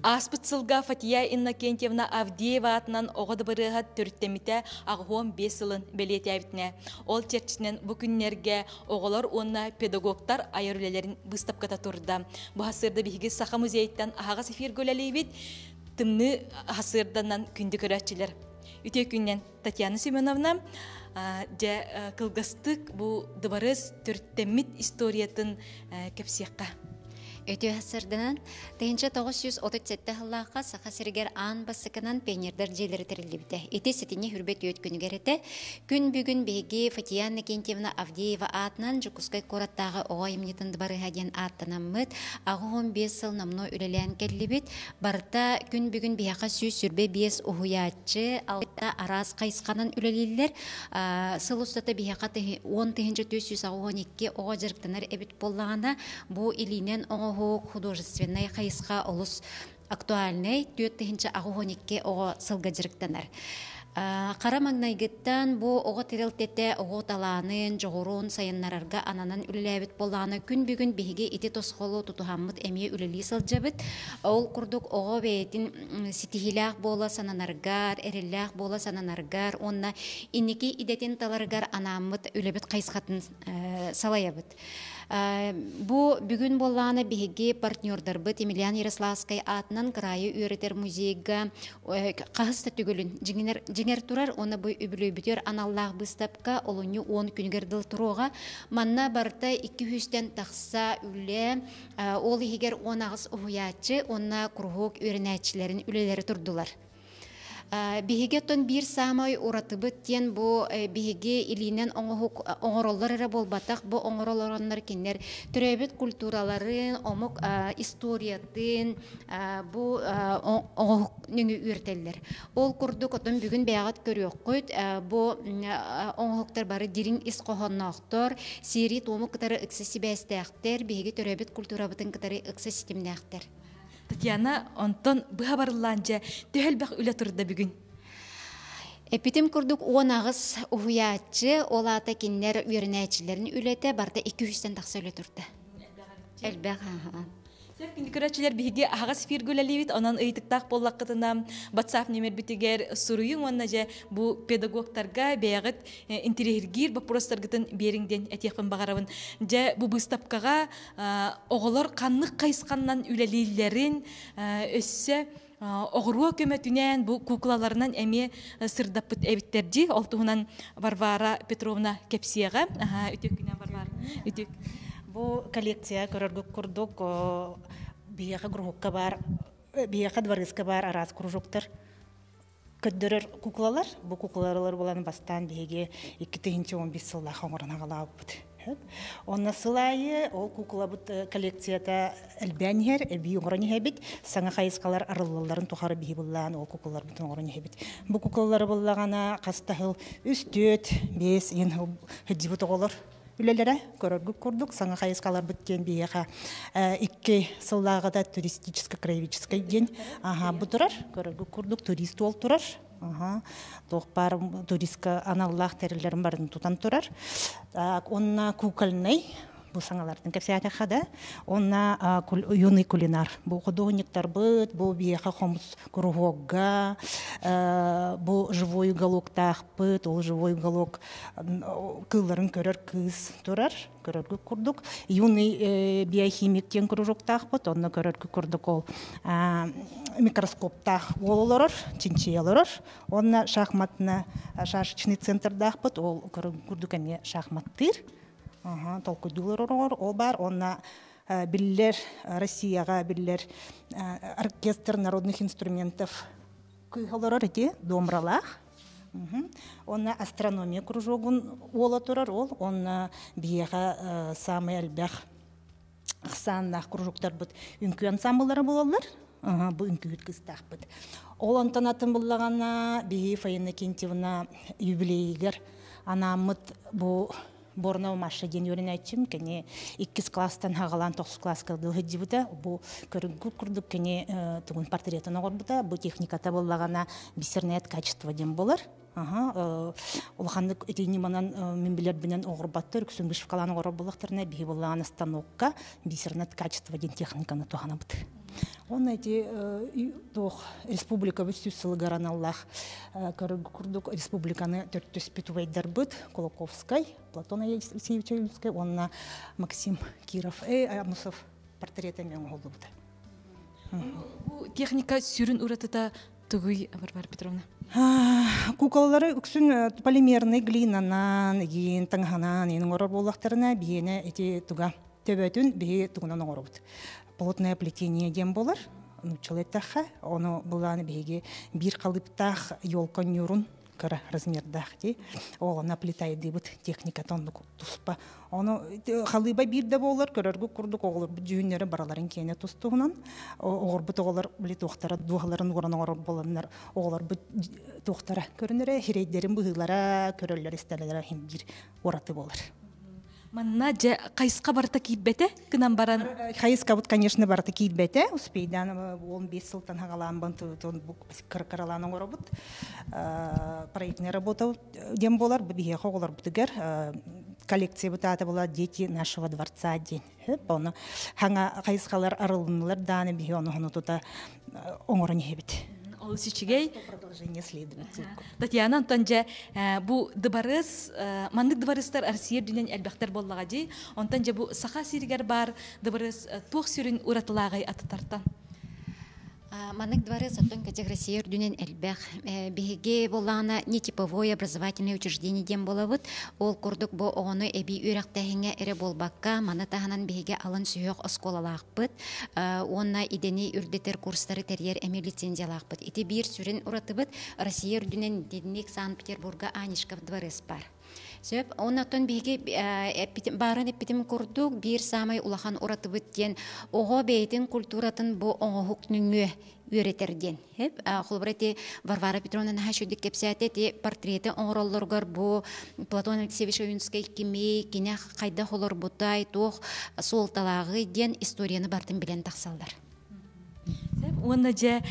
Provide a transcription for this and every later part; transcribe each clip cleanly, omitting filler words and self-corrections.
Ааспыт сылга Фатия Иннокентьевна Авдеева аатынан оҕо дыбарыаһа төрүттэммитэ 85 сылын бэлиэтээбитинэ. Ол чэрчитинэн бу күннэргэ оҕолор уонна педагогтар айар үлэлэрин быыстапката турда. Бу сарсыарда биһиги Саха музейыттан аһаҕас эфиргэ үлэлиибит. Тымныы сарсыарданан күндү көрөөччүлэр. Үтүө күннэн Татьяна Семеновна, дьэ кылгастык бу дыбарыас төрүттэммит историятын кэпсиэххэ. Өтүө сырдынан 1937 сыллаахха Саха сиригэр аан бастакынан пионердар дьиэлэрэ тэриллибитэ. Ити сэтинньи хүрбэт үөт күнүгэр этэ. Күн бүгүн биһиги Фатия Иннокентьевна Авдеева аатынан Дьокуускай куораттааҕы оҕо айымньытын дыбарыһа диэн ааттанаммыт, 85 сыл номнуо үлэлээн кэллибит. Барыта күн бүгүн биһиэхэ 125 уһуйааччы, алта араас хайысханан үлэлииллэр. Сыл устата биһиэхэ 10 482 оҕо дьарыктанар эбит буоллаҕына, бу илиинэн оҥоһук художественнай хайысха олус актуальнай 4082 оҕо сылга дьарыктанар. Хара маҥнайгыттан бу оҕо тэрилтэтэ оҕо талаанын, дьоҕурун сайыннарарга ананан үлэлээбит буоллаҕына, күн бүгүн биһиги ити тосхолу тутуһаммыт эмиэ үлэлии сылдьабыт. Ол курдук оҕо бэйэтин ситиһиилээх буола сананаргар, эрэллээх буола сананаргар уонна инники идэтин таларыгар анааммыт үлэбит хайысхатын салайабыт. Бу бүгүн буоллаҕына биһиги партнердарбыт Емельян Ярославскай аатынан кыраайы үөрэтэр музейга хаһыс да түгүлүн дьиҥэр турар уонна бу үбүлүөйбүтүгэр аналлаах быыстапка олунньу 10 күнүгэр дылы туруоҕа. Манна барыта 200-тэн тахса үлэ, ол иһигэр 18 уһуйааччы уонна куруһуок үөрэнээччилэрин үлэлэрэ турдулар. Биһиги оттон биир саамай уратыбыт диэн бу биһиги илиинэн оҥоһук оҥороллор эрэ буолбатах, бу оҥоролороннор кинилэр төрөөбүт культураларын, омук историятын бу оҥоһук нөҥүө үөрэтэллэр. Ол курдук оттон бүгүн бэйэҕит көрүөххүт, бу оҥоһуктар бары дириҥ ис хоһоонноохтор, сиэри-туому кытары ыкса сибээстээхтэр, биһиги төрөөбүт культурабытын кытары ыкса ситимнээхтэр. Татьяна, онтон быһа барыллаан дьэ, төһө элбэх үлэ турда бүгүн? Эппитим курдук 18 уһуйааччы, ол аата кинилэр үөрэнээччилэрин үлэтэ барыта 200-тэн тахса үлэ турда. Элбэх, аха. Сөп күндү көрөөччүлэр биһиги аһаҕас эфиргэ үлэлиибит, онон ыйытыктаах буоллаххытына WhatsApp нүөмэрбитигэр суруйуҥ уонна дьэ бу педагогтарга бэйэҕит интириэһиргиир боппуруостаргытын биэриҥ диэн этиэхпин баҕарабын. Дьэ бу быыстапкаҕа оҕолор ханнык хайысханнан үлэлииллэрин өссө оҕуруо көмөтүнэн бу куклаларынан эмиэ сырдаппыт эбиттэр дии. Ол туһунан Варвара Петровна кэпсиэҕэ. Үтүө күнэ Варвара. Үтүө. Бу коллекция көрөргүт курдук биһиэхэ кружокка баар, биһиэхэ дворецка баар араас кружоктар көрдөрөр куклалар. Бу куклалар булан бастаан биһиги 2015 сыллаах оҥорон аҕалаабыппыт. Онно сыл аайы ол куклабыт коллекцията элбээн иһэр, эбии оҥорон иһэбит. Саҥа хайысхалар арыллалларын тухары биһи буллаан ол куклаларбытын оҥорон иһэбит. Бу куклалары буллаҕына хас да сыл үс, түөрт, биэс иэн сылдьыбыт оҕолор үлэлэрэ көрөргүт курдук саҥа хайысхаларбыт диэн биһиэхэ 2 сыллааҕыта туристическо-краеведческай диэн бу турар көрөргүт курдук турист уол турар туох баар туристка аналлаах тэриллэрин барын тутан турар онна кукольный бу саҥалартан кэпсээтэххэ да онна юный кулинар бу художниктарбыт бу биһиэхэ хомус куруһуогга бу живой уголоктаахпыт ол живой уголок кыылларын көрөр кыыс турар көрөргүт курдук юный биохимик диэн кружоктаахпыт онно көрөргүт курдук ол микроскоптаах уол олорор чинчийэ олорор онно шахматна шашечный центрдаахпыт ол көрөргүт курдук эмиэ шахматтыыр толкуйдуулар олорор ол баар онно биллэр Россияҕа биллэр оркестр народных инструментов кыыһа олорор ити домралаах Онно астрономия кружогун уола турар ол онно биһиэхэ саамай элбэх ахсааннаах кружоктарбыт үҥкүү ансамбллара буолаллар. Бу үҥкүүһүт кыыстаахпыт. Ол онтон атын буллаҕына биһи Фаина Кентьевна юбилейигэр анааммыт бу Борнова Маша диэн үөрэнээччим кини иккис класстан хаҕалаан тохсус класска дылы сылдьыбыта. Бу көрүҥкү курдук кини тугун портретын оҥорбута. Бу техниката буоллаҕына бисерное качество диэн буолар. Улаханнык ити ньыманан мин билэрбинэн оҕорбаттар, үксүн вышивкалаан оҕорор буоллахтарына, биһи буоллаҕына станокка бисерное качество диэн техниканы туһанабыт. Онно ити туох республикабыт сүүс сылыгар аналлаах курдук республиканы төрүттүспүт убайдарбыт Кулаковскай, Платон Алексеевич Ойунскай уонна Максим Киров, Амусов портрета эмиэ оҥоһуллубута. Бу техника сүрүн уратыта тугуй, Варвара Петровна? Куколалары үксүн полимерный глинанан, игин таҥаһынан иин оҥорор буоллахтарына, биһиэнэ ити туга төбөтүн биһи тугунан оҥоробут. Плотное плетение диэн буолар, нууччалыы эттэххэ, ону былааны биһиги биир халыыптаах елка ньуурун кыра размердаах дии. Ол онно плитайдыыбыт техниката оннук туспа. Ону халыыба биир да буолар, көрөргүт курдук оҕолорбут дьүһүннэрэ бараларын киэнэ тустуһунан оҕорбут оҕолор били туохтара дууһаларын ууран оҥорор буоланнар оҕолорбут туохтара көрүнэрэ, хирэйдэрин быһыылара, көрөллөр истэллэрэ иһин биир ураты буолар. Манна дьэ хайысха барыта киирбэтэ гынан баран Хайыскабыт, конечно, барыта киирбэтэ. Успейдан 15 сылтан хагалаан кыралаан оҥоробут. Проектная работа диэн буолар. Бу биһиэхэ оҕолорбутугар коллекциябыт аата була «Дети нашего дворца» диэн. Оны хаҥа хайысхалар арылыннылар дааны биһи ону тута оҥорон иһэбит. Олус үчүгэй. Продолжение следует. Татьяна, онтон дьэ бу дыбарыс, маннык дыбарыстар Россия үрдүнэн элбэхтэр буоллаҕа дии. Онтон дьэ бу Саха сиригэр баар дыбарыс туох сүрүн уратылааҕый атытартан? Маннык дворец оттон кэтэх Россия үрдүнэн элбэх. Биһиги буоллаҕына нетиповое образовательное учреждение диэн буолабыт. Ол курдук бу оҕону эбии үөрэхтээһиҥҥэ эрэ буолбакка, маны таһынан биһиги алын сүһүөх оскуолалаахпыт уонна идэни үрдэтэр курстары тэрийэр эмиэ лицензиялаахпыт. Ити биир сүрүн уратыбыт Россия үрдүнэн итинник Санкт-Петербурга Анишков дворец бар. Сөп. Оннотон биһиги баарын эппитим курдук биир саамай улахан уратыбыт диэн оҕо бэйэтин культуратын бу оҥоһук нөҥүө үөрэтэр диэн. Холобура ити Варвара Петровна наһаа үчүгдүк кэпсээтэ ити портреты оҥороллоругар бу Платон Алексеевич Ойунскай кимий, кини хайдах олорбутай, туох суолталааҕый диэн историяны бартын билэн тахсаллар. Уонна дьэ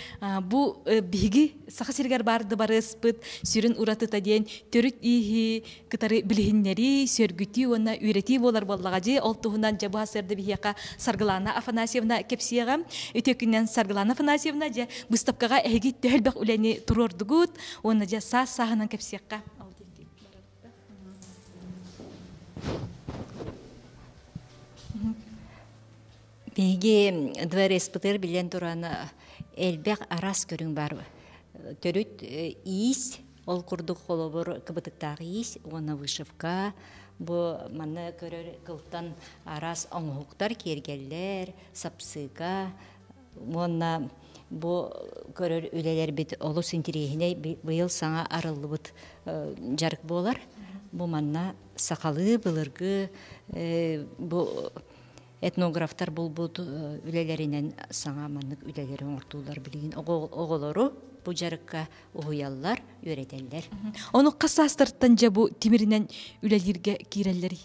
бу биһиги Саха сиригэр баар дыбарыаспыт сүрүн уратыта диэн төрүт ииһи кытары билиһиннэрии, сөргүтүү уонна үөрэтии буолар буоллаҕа дии. Ол туһунан дьэ бу сарсыарда биһиэхэ Саргылана Афанасьевна кэпсиэҕэ. Үтүө күнүнэн Саргылана Афанасьевна дьэ быыстапкаҕа эһиги төһө элбэх үлэни туруордугут уонна дьэ саас-сааһынан кэпсиэххэ. Биһиги дворецпытыгар билэн туран элбэх араас көрүҥ баар. Төрүт иис, ол курдук холобур кыбытыктаах иис уонна вышивка. Бу манна көрөр кылтан араас оҥоһуктар, киэргэллэр, сапсыыка уонна бу көрөр үлэлэрбит олус интириэһинэй быйыл саҥа арыллыбыт дьарык буолар. Бу манна сахалыы былыргы бу этнографтар булбут үлэлэринэн саҥа маннык үлэлэри оҥортууллар билигин оҕолору бу дьарыкка уһуйаллар, үөрэтэллэр. Ону хас саастартан дьэ бу тимиринэн үлэлииргэ киирэллэрий?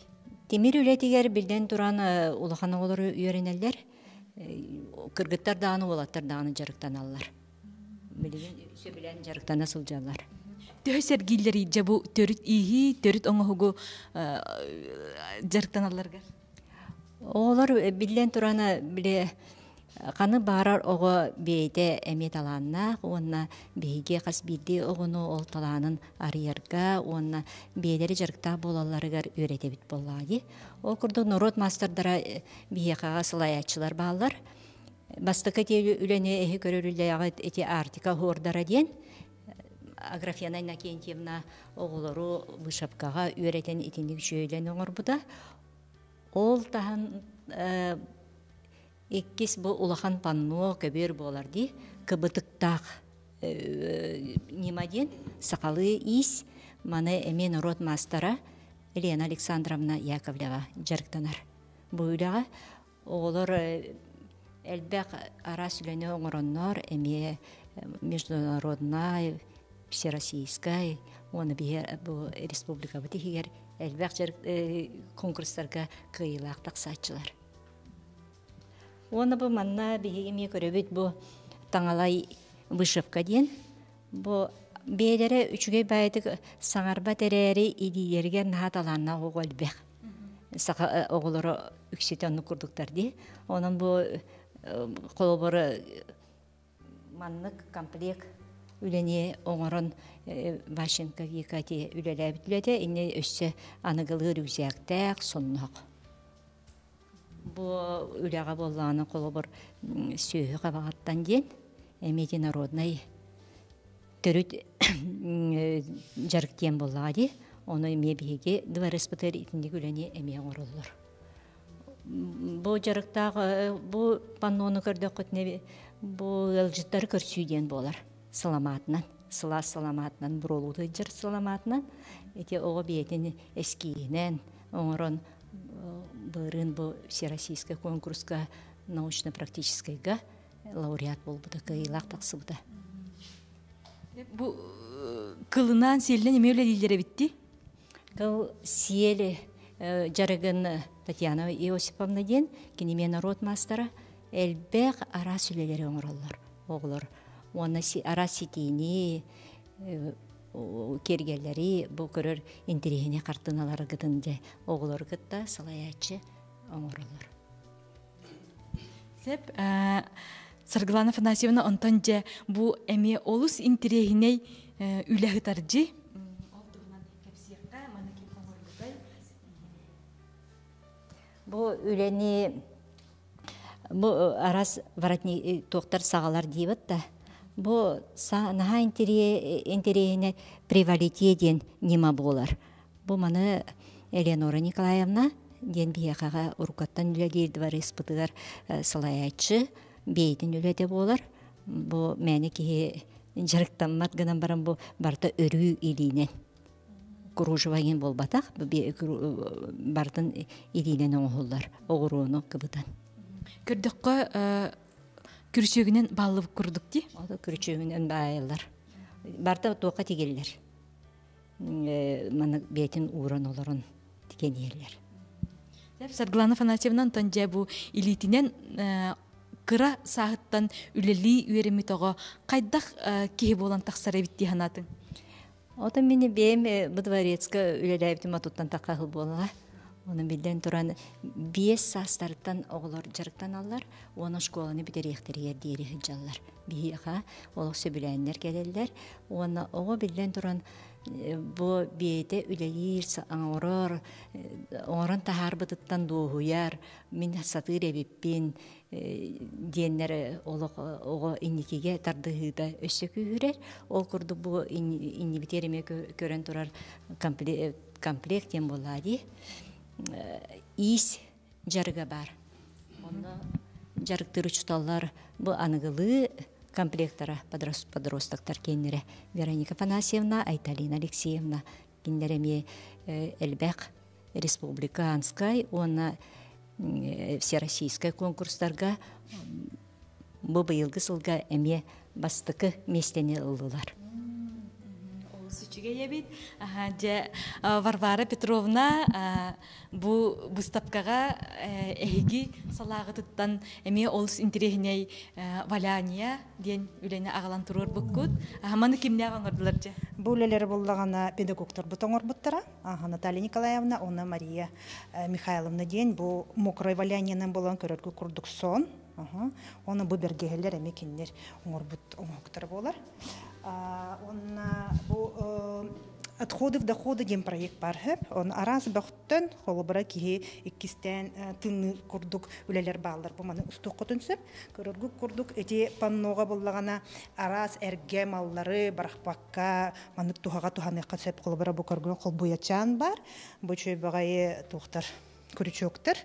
Тимир үлэтигэр биллэн туран улахан оҕолору үөрэнэллэр. Кыргыттар даҕаны, уолаттар даҕаны дьарыктаналлар. Билигин сөбүлээн дьарыктана сылдьаллар. Төһө сэргииллэрий дьэ бу төрүт ииһии, төрүт оҥоһугу дьарыктаналларгар? Оҕолор биллэн туран били ханы баарар оҕо бэйэтэ эмиэ талааннаах уонна биһиги хас биирдии оҕону ол талаанын арыйарга уонна бэйэлэрэ дьарыктаах буолалларыгар үөрэтэбит буоллаҕа дии. Ол курдук норуот маастардара биһиэхэҕэ салайааччылар бааллар. Бастакы ити үлэни эһи көрөр үлэҕит ити Арктика оһуордара диэн Аграфена Иннокентьевна оҕолору вышивкаҕа үөрэтэн итинник үчүгэйдэн оҥорбута. Ол таһан иккис бу улахан панно көбүөр буолар дии кыбытыктаах ньыма диэн сахалыы иис маны эмиэ норуот маастара Елена Александровна Яковлева дьарыктанар. Бу үлэҕэ оҕолор элбэх араас үлэни оҥороннор эмиэ международнай, всероссийскай уонна биһи бу республикабыт иһигэр элбэх конкурстарга кыайыылаах тахсааччылар. Уонна бу манна биһиги эмиэ көрөбүт бу таҥалай вышивка диэн. Бу бэйэлэрэ үчүгэй баайытык саҥарбат эрээри илиилэригэр наһаа талааннаах оҕо элбэх. Саха оҕолоро үксүтэ оннук курдуктар дии. Онон бу Холобур, маннык комплект үлэни оҥорон Ващенко Вика ити үлэлээбит үлэтэ инньэ өссө аныгылыы рюкзактээх, сонноох. Бу үлэҕэ буоллаҕына холобур сүөһү хабаҕыттан диэн эмиэ ити народнай төрүт дьарык диэн буоллаҕа дии. Ону эмиэ биһиги дворецпытыгар итинник үлэни эмиэ оҥороллор. Бу дьарыктаах бу паннону көрдөххүтүнэ бу ыалдьыттары көрсүү диэн буолар саламаатынан сылаас саламаатынан буруолуу сылдьар саламаатынан ити оҕо бэйэтин эскиинэн оҥорон былырыын бу всероссийскай конкурска научно-практическайга лауреат буолбута кыайыылаах тахсыбыта. Бу кылынан сиэлинэн эмиэ үлэлииллэр эбит дии? Кыл сиэли дьарыгын Татьяна Иосиповна диэн кини эмиэ норуот маастара элбэх араас үлэлэри оҥороллор оҕолор уонна араас ситиини киэргэллэри бу көрөр интэриэһинэй хартыыналаргытын дьэ оҕолору кытта салайааччы оҥороллор. Сөп. Саргылана Афанасьевна онтон дьэ бу эмиэ олус интэриэһинэй үлэ ыытардьы. Ол туһунан кэпсиэххэ, маны ким оҥорбутай? Бу үлэни бу арас воротник туохтар саҕалар диибит да бу наһаа интэриэһинэй привалитие диэн ньыма буолар. Бу маны Элеонора Николаевна диэн биһиэхэҕэ уруккаттан үлэлиир дворецпытыгар салайааччы бэйэтин үлэтэ буолар. Бу мээнэ киһи дьарыктаммат гынан баран бу барыта өрүү илиинэн кружево диэн буолбатах барытын илиинэн оҥоһуллар оҕуруону кыбытан. Көрдөххө күрүчүөгүнэн бааллыбыт курдук дии. Күрүчүөгүнэн баайыллар. Барыта туохха тигиллэр. Маны бэйэтин ууран олорон тигэн иһэллэр. Саргылана Афанасьевна онтон дьэ бу илиитинэн кыра сааһыттан үлэлии үөрэммит оҕо хайдах киһи буолан тахсар эбит дии санаатыҥ? Отон мин бэйэм бу дворецка үлэлээбитим отуттан тахха сыл буолла. Оны биллэн туран биэс саастарыттан оҕолор дьарыктаналлар уонна школаны бүтэриэхтэригэр диэри сылдьаллар. Биһиэхэ олох сөбүлээннэр кэлэллэр уонна оҕо биллэн туран бу бэйэтэ үлэлиир, оҥорор, оҥорон таһаарбытыттан дуоһуйар, мин сатыыр эбиппин диэннэр олох оҕо инникигэ тардыһыыта өссө күүһүрэр. Ол курдук бу иннибитигэр эмиэ көрөн турар комплект диэн буоллаа дии. Иис дьарыга баар. Онно дьарыктыыр учууталлар бу аныгылыы комплектара подростоктар киэннэрэ Вероника Афанасьевна, Айталина Алексеевна кинилэр эмиэ элбэх республиканскай уонна всероссийскай конкурстарга бу быйылгы сылга эмиэ бастакы миэстэни ыллылар. Олус үчүгэй эбит. Дьэ, Варвара Петровна бу быыстапкаҕа эһиги салааҕытыттан эмиэ олус интэриэһинэй валяние диэн үлэни аҕалан туруорбуккут. Маны кимнээх оҥордулар дьэ? Бу үлэлэри буллаҕына педагогтарбыт оҥорбуттара. Наталья Николаевна уонна Мария Михайловна диэн бу мокрой валяниенан буолан көрөргө курдук сон. Оны бу бэргэһэлэр эмиэ кинилэр оҥорбут оҥоһуктара буолар. Онна бу отходы в доходы диэн проект бар хөп. Он араас бөхтөн холобура киһи иккистээн тынны курдук үлэлэр бааллар. Бу маны устуоххутун сөп. Көрөргүт курдук эти панноға буллаҕына араас эргэ маллары барахпакка маннык туһаҕа туһаныахха сөп. Холобура бу көргөн холбуйачаан бар. Бу чөйбөҕөйи туохтар крючоктар.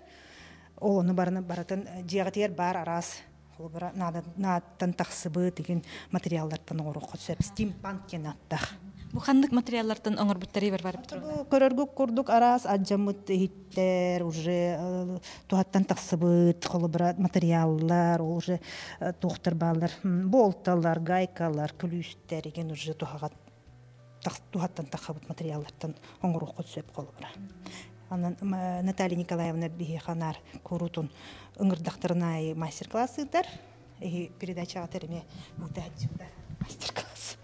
Ол ону барыны барытын дьиэҕитигэр баар араас холобура наадаттан тахсыбыт игин материаллартан оҥоруохха сөп. Стимпанк диэн ааттаах. Бу ханнык материаллартан оҥорбуттарый Варвара Петровна? Көрөргүт курдук араас алдьаммыт иһиттэр уже туһаттан тахсыбыт холобура материаллар ол уже туохтар бааллар болталар, гайкалар, күлүүстэр игин уже туһаҕа туһаттан тахабыт материаллартан оҥоруоххут сөп холобура. Анан Наталья Николаевна биһиэхэ анаар куруутун ыҥырдахтарын аайы мастер-класс ыытар. Эһи передачаҕа эмиэ ыытааччыта мастер-класс.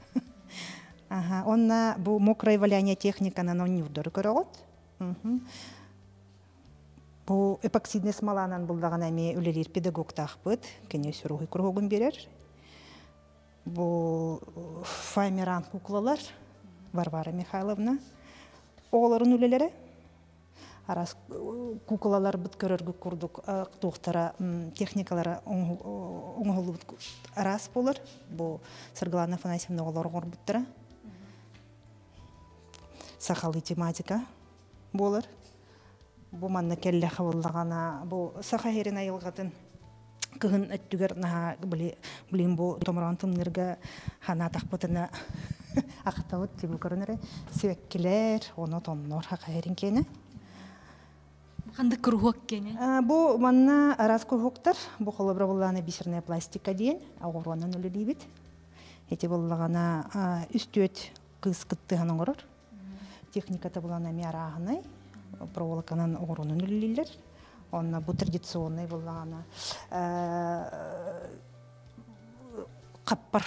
Ага, онна бу мокрое валяние техниканан онньуурдары көрөҕүт. Бу эпоксидный смоланан буллаҕына эмиэ үлэлиир педагогтаахпыт. Кини суруһуй куруһугун биэрэр. Бу файмеран куклалар Варвара Михайловна оҕолорун үлэлэрэ. Арас куклаларбыт көрөргүт курдук туохтара техникалара оҥоһуллубут араас буолар. Бу Саргылана Афанасьевна оҕолор оҥорбуттара. Сахалыы тематика буолар. Бу манна кэллэхэ буоллаҕына, бу саха сирин айылҕатын кыһын өттүгэр наһаа блин бу томороон тымныырга ханаатахпытына ахтабыт тибу көрөн эрэ сибэккилэр ону томнор саха сирин киэнэ. Ханнык куруһуок киэнэ? Бу манна араас куруһуоктар. Бу холобура буллаана бисерная пластика диэн оҕуруонан үлэлиибит. Ити буллаҕына үс-түөрт кыыс кыттыһан оҥорор. Техниката булан эмиэ арааһынай, проволоканан оҕуруонан үлэлииллэр. Онно бу традиционный буллаҕына хаппар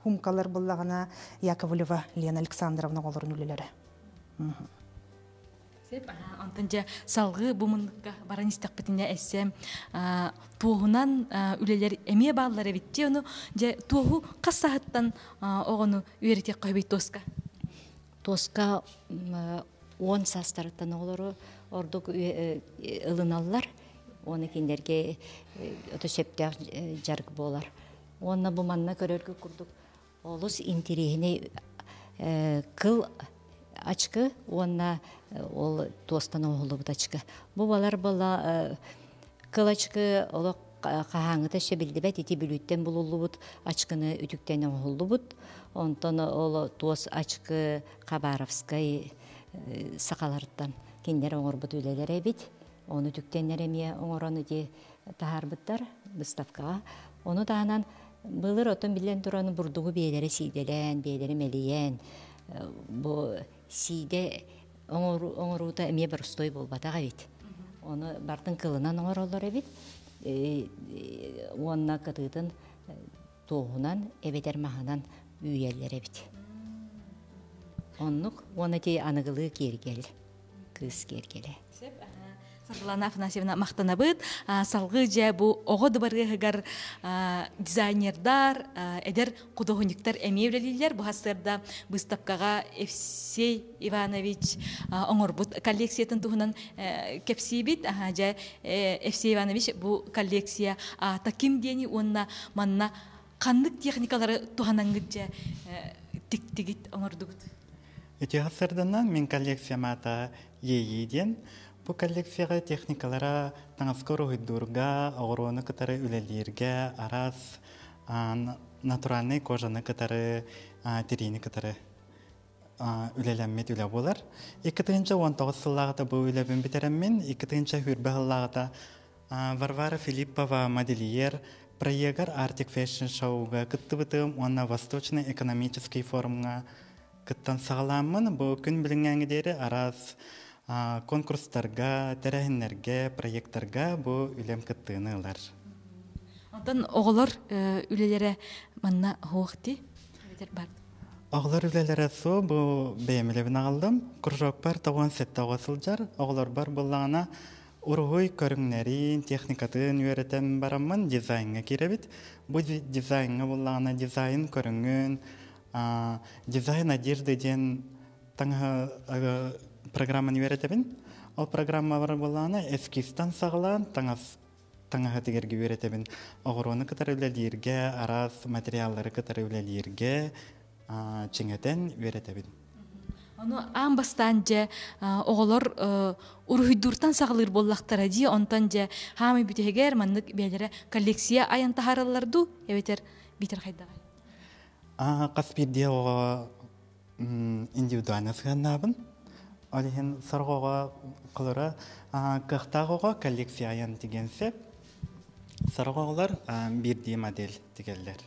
хумкалар буллаҕына Яковлева Лена Александровна оҕолорун үлэлэрэ. Сеп, онтон дьэ салгыы бу муннукка баран истэхпитинэ эссэ туоһунан үлэлэр эмиэ бааллар эбит дии ону дьэ туоһу хас саһыттан оҕону үөрэтиэххэ сөбүй туоска? Туоска 10 саастарыттан оҕолору ордук ылыналлар. Уонна кинилэргэ ото сөптөөх дьарык буолар. Уонна бу манна көрөргө курдук олус интириэһинэй кыл ачкы уонна ол туостан оҥоһуллубут ачкы. Бу балар была кыл ачкы олох хаһааҥҥыта өссө биллибэт ити Бүлүүттэн булуллубут ачкыны үтүктэн оҥоһуллубут. Онтон ол туос ачкы Хабаровскай сахалартан кинилэр оҥорбут үлэлэрэ эбит. Ону үтүктэннэр эмиэ оҥорон ити таһаарбыттар выставкаҕа. Ону таһынан былыр оттон биллэн туран бурдугу биэлэри сиидэлээн, биэлэри мэлийэн бу сиидэ оҥоруута эмиэ боростуой буолбатах эбит. Ону бартын кылынан оҥороллор эбит. Уонна кытыытын туоһунан эбэтэр маһынан үүйэллэр эбит. Оннук уонна ити аныгылыы киэргэл, кыыс киэргэлэ. Саргылана Афанасьевна махтанабыт. Салгыы дьэ бу оҕо дыбарыаһыгар дизайнердар, эдэр худуоһунньуктар эмиэ үлэлииллэр. Бу сарсыарда быыстапкаҕа Евсей Иванович оҥорбут коллекциятын туһунан кэпсиибит. Дьэ Евсей Иванович бу коллекция аата ким диэни уонна манна ханнык техникалары туһанаҥҥыт дьэ тиктигит оҥордугут? Ити сарсыарданан мин коллекциям аата Иэйии диэн. Бу коллекцияҕа техникалара таҥаска уруһуйдуурга, оҕуруону кытары үлэлииргэ, араас натуральнай кожаны кытары, тириини кытары үлэлэммит үлэ буолар. 2019 сыллааҕыта бу үлэбин бүтэрэммин, 2020 сыллааҕыта Варвара Филиппова модельер проегар Arctic Fashion Show-га кыттыбытым уонна Восточный экономический форумҥа кыттан саҕалааммын, бу күн билиҥҥээҥи диэри араас конкурстарга, тэрээһиннэргэ, проекттарга бу үлэм кыттыыны ылар. Онтон оҕолор үлэлэрэ манна суох дии? Бар. Оҕолор үлэлэрэ суох, бу бэйэм үлэбин аҕаллым. Кружокпар 97 оҕо сылдьар. Оҕолорбор буллаҕына уруһуй көрүҥнэрин, техникатын үөрэтэн бараммын дизайҥҥа киирэбит. Бу дизайҥҥа буллаҕына дизайн көрүҥүн, дизайн одежды диэн таҥаһы программаны үөрэтэбин. Ол программалар буоллаҕына эскизтан саҕалаан таҥас таҥаһы тигэргэ үөрэтэбин. Оҕуруону кытары үлэлииргэ, араас материаллары кытары үлэлииргэ чиҥэтэн үөрэтэбин. Ону аан бастаан дьэ оҕолор уруһуйдууртан саҕалыыр буоллахтара дии, онтон дьэ хаамай бүтэһигэр маннык бэйэлэрэ коллекция айан таһаараллар дуу, эбэтэр биитэр хайдаҕай? Хас биирдии оҕо индивидуально сыһыаннаабын. Ол иһин сорох оҕо холоро кыахтаах оҕо коллекция айан тигэн сөп. Сорох оҕолор биирдии модель тигэллэр.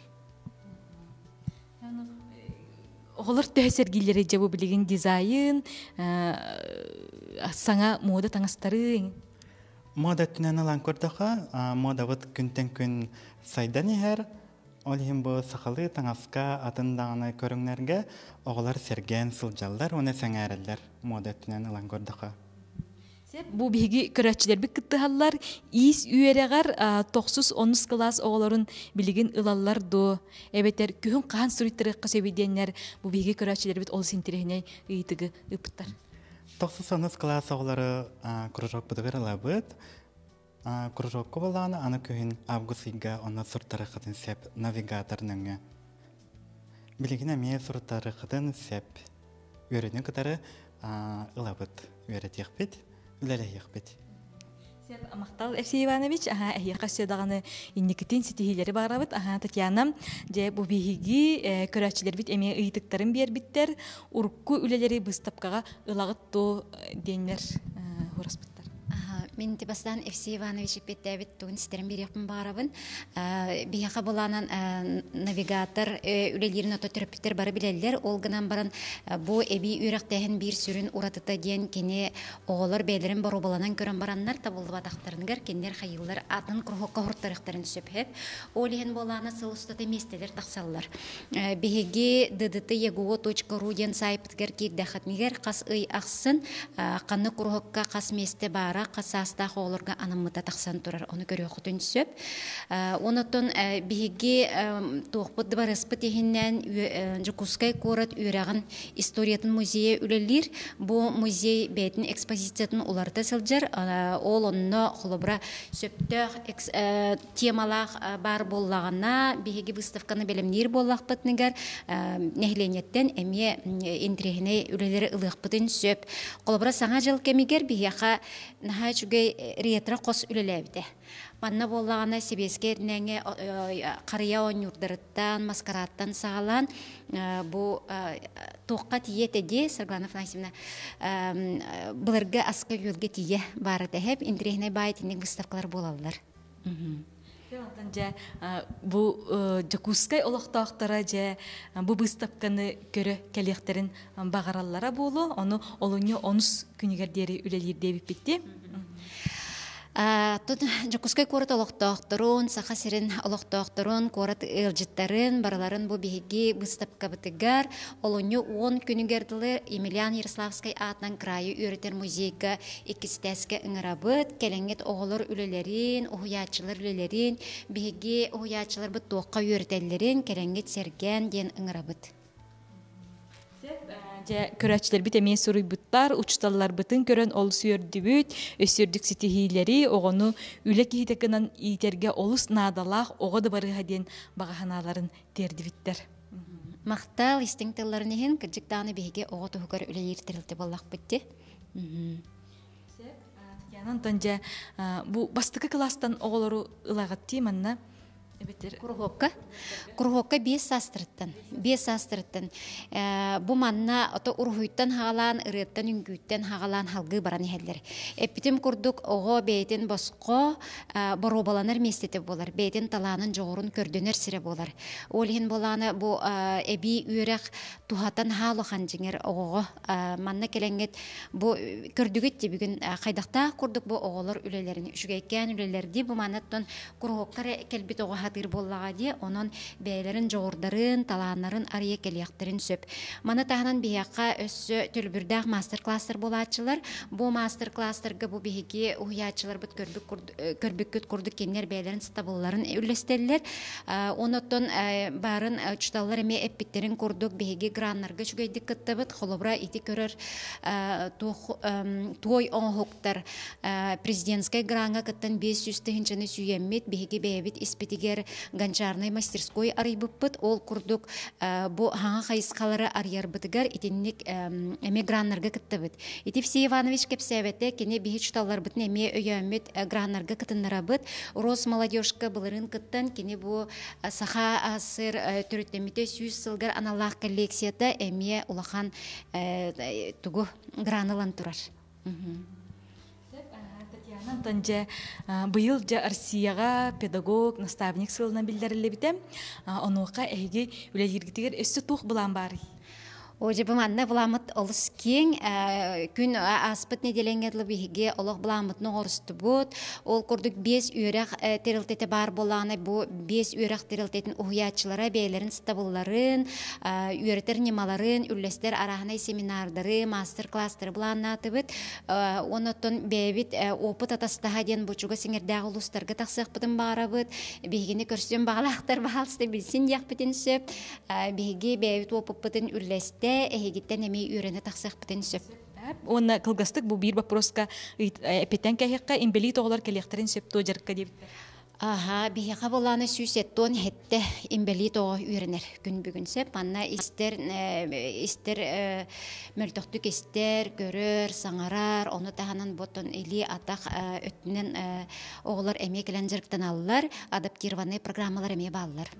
Оҕолор төһө сэргииллэрий дьэ бу билигин дизайн, саҥа муода таҥастары? Мода өттүнэн ылан көрдөххө, модабыт күнтэн күн сайдан иһэр. Ол иһин бу сахалыы таҥаска атын даҕаны көрүҥнэргэ оҕолор сэргээн сылдьаллар уонна сэҥээрэллэр мода өттүнэн ылан көрдөххө. Бу биһиги көрөөччүлэрбит кыттыһаллар. Иис үөрэҕэр тохсус онус кылаас оҕолорун билигин ылаллар дуо? Эбэтэр күһүн хаһан суруйтарыахха сөбүй диэннэр бу биһиги көрөөччүлэрбит олус интэриэһинэй ыйытыгы ыыппыттар. Тохсус онус кылаас оҕолору кружокпутугар ылабыт. Кружокка буоллаҕына аны күһүн август ыйга онно суртарыаххытын сөп навигатор нөҥүө. Билигин эмиэ суруттарыаххытын сөп. Үөрүүнү кытары ылабыт, үөрэтиэхпит, үлэлэһиэхпит. Сеп махтал Евсей Иванович, аха эһиэхэ өссө даҕаны инникитин ситиһиилэри баҕарабыт. Аха Татьяна, дьэ бу биһиги көрөөччүлэрбит эмиэ ыйытыктарын биэрбиттэр. Урукку үлэлэри быыстапкаҕа ылаҕыт дуо диэннэр хураспыттар. Мин бастаан Евсей Иванович эппиэттээбит тугун ситэрэн биэриэхпин баҕарабын. Биһиэхэ былаанан навигатор үлэлиирин ото төрөппүттэр бары билэллэр. Ол гынан баран бу эбии үөрэхтээһин биир сүрүн уратыта диэн кини оҕолор бэйэлэрин боруобаланан көрөн бараннар табыллыбатахтарыгар кинилэр хайыылар атын кругокка хортарыахтарын сөп. Ол иһин буолаана сыл устата миэстэлэр тахсаллар. Биһиги ddt.egu.ru диэн саайпытыгар киирдэххитинигэр хас ый ахсын ханнык куруһукка хас миэстэ баара, хас саастаах оҕолорго анаммыта тахсан турар. Ону көрүөххүтүн сөп. Онотон биһиги туохпут дыбарыаспыт иһинэн Дьокуускай куорат үөрэҕин историятын музейа үлэлиир. Бу музей бэйэтин экспозициятын уларыта сылдьар. Ол онно холобура сөптөөх темалаах баар буоллаҕына, биһиги выставканы бэлэмниир буоллахпытыныгар нэһилиэнньэттэн эмиэ интэриэһинэй үлэлэри ылыахпытын сөп. Холобура, Саҥа дьыл кэмигэр биһиэхэ наһаа үчүгэй ретро-хос үлэлээбитэ. Манна буоллаҕына сэбиэскэй эрнээҥҥэ харыйа оонньуурдарыттан, маскарааттан саҕалаан бу туохха тиийэ этэ дии, Саргылана Афанасьевна, былыргы аска-үөлгэ тиийэ баара тэһэп, интэриэһинэй баай итинник выставкалар буолаллар. Онтон дьэ бу Дьокуускай олохтоохторо дьэ бу быыстапканы көрө кэлиэхтэрин баҕараллара буолуо. Ону олунньу онус күнүгэр диэри үлэлиир диэбиппит дии. Тут Дьокуускай куорат олохтоохторун, Саха сирин олохтоохторун, куорат ыалдьыттарын барыларын бу биһиги быыстапкабытыгар олунньу 10 күнүгэр дылы Емельян Ярославскай аатынан кыраайы үөрэтэр музейга иккистээскэ ыҥырабыт. Кэлэҥҥит оҕолор үлэлэрин, уһуйааччылар үлэлэрин, биһиги уһуйааччыларбыт туохха үөрэтэллэрин кэлэҥҥит сэргээн диэн ыҥырабыт. Дьэ, көрөөччүлэрбит эмиэ суруйбуттар, учууталларбытын көрөн олус үөрдүбүт, өссө үрдүк ситиһиилэри, оҕону үлэ киһитэ гынан иитэргэ олус наадалаах оҕо да барыһа диэн баҕа санааларын тиэрдибиттэр. Махтал истиҥ тылларын иһин, кырдьык даҕаны биһиги оҕо туһугар үлэлиир тэрилтэ буоллахпыт дии. Татьяна Антон дьэ бу бастакы кылаастан оҕолору ылаҕыт дии манна эбэтэр Куруһуокка. Куруһуокка биэс саастарыттан. Биэс саастарыттан. Бу манна ото уруһуйтан хаалаан, ырыаттан, үҥкүүттэн хаалаан халгыы баран иһэллэр. Эппитим курдук, оҕо бэйэтин босхо боруобаланар миэстэтэ буолар, бэйэтин талаанын, дьоҕурун көрдөнөр сирэ буолар. Ол иһин буолаана бу эбии үөрэх туһатан хаалахан дьиҥэр оҕоҕо манна кэлэҥҥит бу көрдүгүт дии бүгүн хайдахтаах курдук бу оҕолор үлэлэрин үчүгэйкээн үлэлэрдии бу манаттан куруһуокка эрэ кэлбит оҕо сатыыр буоллаҕа дии онон бэйэлэрин дьоҕурдарын талааннарын арыйа кэлиэхтэрин сөп маны таһынан биһиэхэ өссө төлөбүрдээх мастер-класстар буолааччылар бу мастер-класстарга бу биһиги уһуйааччыларбыт көрбүт көрбүккүт курдук кинилэр бэйэлэрин сатабылларын үллэстэллэр. Онон баарын учууталлар эмиэ эппиттэрин курдук биһиги граннарга үчүгэйдик кыттабыт. Холобура ити көрөр туой оҥоһуктар президентскай граҥҥа кыттан 500 тыһыынчаны сүүйэммит биһиги бэйэбит испитигэр гончарнай мастерской арыйбыппыт. Ол курдук бу хаҥа хайысхалары арыйарбытыгар итинник эмиэ граннарга кыттабыт. Ити Евсей Иванович кэпсээбэтэ, кини биһи учууталларбытын эмиэ өйөөммүт граннарга кытыннарабыт. Росмолодежка былырыын кыттан, кини бу Саха АССР төрүттэммитэ 100 сылгар аналлаах коллекцията эмиэ улахан тугу гран ылан турар. Татьяна Антон дьэ быйыл дьэ Россияҕа педагог, наставник сылынан биллэриллибитэ. Онуоха эһиги үлэлииргитигэр өссө туох былаан баарый? О, дьэ, бу манна былааммыт олус киэҥ. Күн ааспыт нэдиэлэҥҥэ дылы биһиги олох былааммытын оҥорустубут. Ол курдук биэс үөрэх тэрилтэтэ баар буоллаҕына, бу биэс үөрэх тэрилтэтин уһуйааччылара бэйэлэрин сатабылларын, үөрэтэр ньымаларын үллэстэр арааһынай семинардары, маастар-класстары былааннаатыбыт. Онон бэйэбит опыт атастаһа диэн бу чугас иҥэрдээх улуустарга тахсыахпытын баҕарабыт. Биһигини көрсүөн баҕалаахтар баһаалыста билсин диэхпитин сөп. Биһиги бэйэбит опыппытын үллэстэ, эһигиттэн эмиэ үөрэнэ тахсыахпытын сөп. Уонна кылгастык бу биир боппуруоска эппиттэн кэһиэххэ, инбэлиит оҕолор кэлиэхтэрин сөп дуо дьарыкка диэбиттэр. Аха, биһиэхэ буолааны 177 инбэлиит оҕо үөрэнэр күн бүгүн сөп. Манна истэр, истэр мөлтөхтүк истэр, көрөр, саҥарар, ону таһынан ботон илии атах өттүнэн оҕолор эмиэ кэлэн дьарыктаналлар, адаптированный программалар эмиэ бааллар.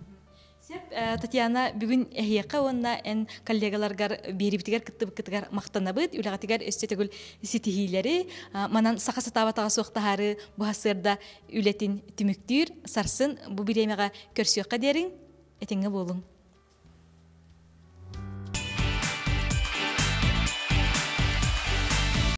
Сөп, Татьяна, бүгүн эһиэхэ уонна эн коллегаларгар биэрибитигэр кыттыбыккытыгар махтанабыт, үлэҕитигэр өссө төгүл ситиһиилэри, манан саха сатаабатаҕа суох таһаарыы бу сарсыарда үлэтин түмүктүүр, сарсын бу бириэмэҕэ көрсүөххэ диэриҥ, этэҥҥэ буолуҥ.